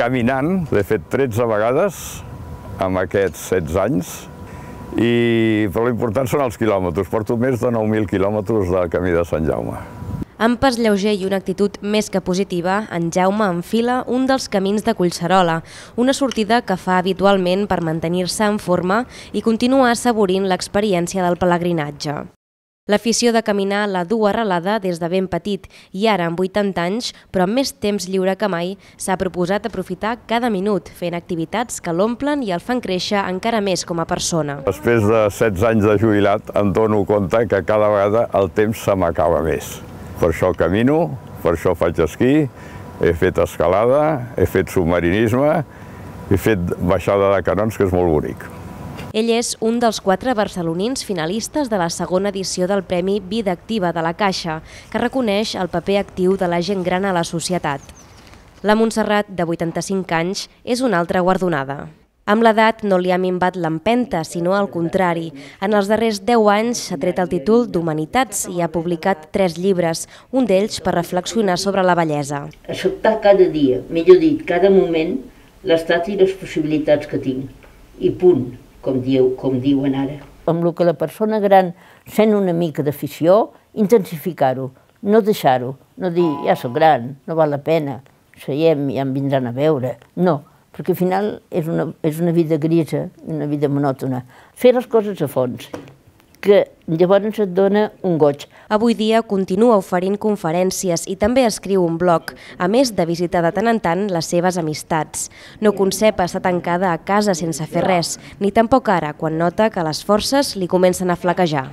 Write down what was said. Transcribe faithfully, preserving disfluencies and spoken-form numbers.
Caminant, l'he fet tretze vegades amb aquests setze anys, i, però l'important són els quilòmetres. Porto més de nou mil quilòmetres de camí de Sant Jaume. Amb pas lleuger i una actitud més que positiva, en Jaume enfila un dels camins de Collserola, una sortida que fa habitualment per mantenir-se en forma i continuar assaborint l'experiència del pelegrinatge. L'afició de caminar la du arrelada des de ben petit i ara, amb vuitanta anys, però amb més temps lliure que mai, s'ha proposat aprofitar cada minut fent activitats que l'omplen i el fan créixer encara més com a persona. Després de setze anys de jubilat em dono compte que cada vegada el temps se m'acaba més. Per això camino, per això faig esquí, he fet escalada, he fet submarinisme, he fet baixada de canons, que és molt bonic. Ell és un dels quatre barcelonins finalistes de la segona edició del Premi Vida Activa de la Caixa, que reconeix el paper actiu de la gent gran a la societat. La Montserrat, de vuitanta-cinc anys, és una altra guardonada. Amb l'edat no li ha minvat l'empenta, sinó al contrari. En els darrers deu anys s'ha tret el títol d'Humanitats i ha publicat tres llibres, un d'ells per reflexionar sobre la bellesa. Acceptar cada dia, millor dit, cada moment, l'estat i les possibilitats que tinc. I punt, com, diu, com diuen ara. Amb el que la persona gran sent una mica d'afició, intensificar-ho, no deixar-ho, no dir, ja soc gran, no val la pena, seiem i ja em vindran a veure. No, perquè al final és una, és una vida grisa, una vida monòtona. Fer les coses a fons, que llavors et dona un goig. Avui dia continua oferint conferències i també escriu un blog, a més de visitar de tant en tant les seves amistats. No concep estar tancada a casa sense fer res, ni tampoc ara, quan nota que les forces li comencen a flaquejar.